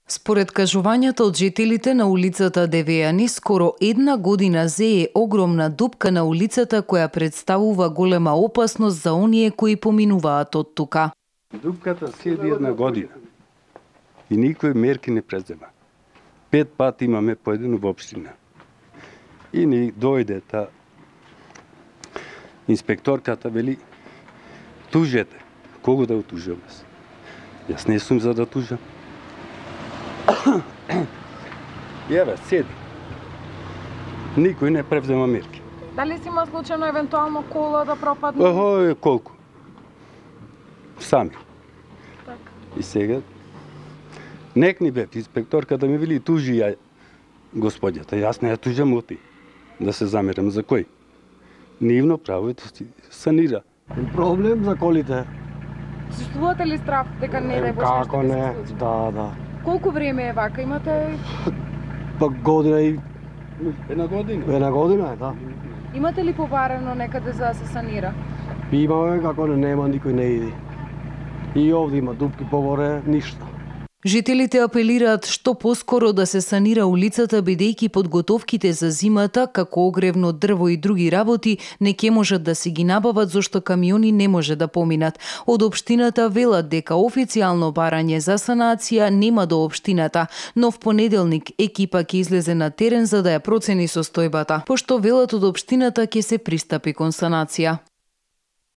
Според кажувањата од жителите на улицата Девејани, скоро една година зее огромна дупка на улицата која представува голема опасност за оние кои поминуваат од тука. Дупката седи една година и никој мерки не презема. 5 пати имаме поедено во општина. И ни дојде та инспекторката вели тужете. Кого да отужам? Јас не сум за да тужам. Еве, седи. Никој не превзема мерки. Дали си има случајно евентуално кола да пропадне? Охо, колку? Сами. Так. И сега нек ни бе инспекторка да ми вели тужи ја господјата. Јас не ја тужам оти. Да се замерам за кој? Нивно право е да си санира. Проблем за колите. Чувствувате ли страх дека не дај Боже Како не? Да. Колку време е вака? Имате Па година и Една година. една година е, да. имате ли побарено некаде за да се санира? Имаме како нема никој не иди. И овде има дупки поборе, ништо. Жителите апелираат што поскоро да се санира улицата, бидејќи подготовките за зимата, како огревно дрво и други работи, не ќе можат да се ги набават зашто камиони не може да поминат. Од општината велат дека официјално барање за санација нема до општината, но в понеделник екипа ќе излезе на терен за да ја процени состојбата, пошто велат од општината ќе се пристапи кон санација.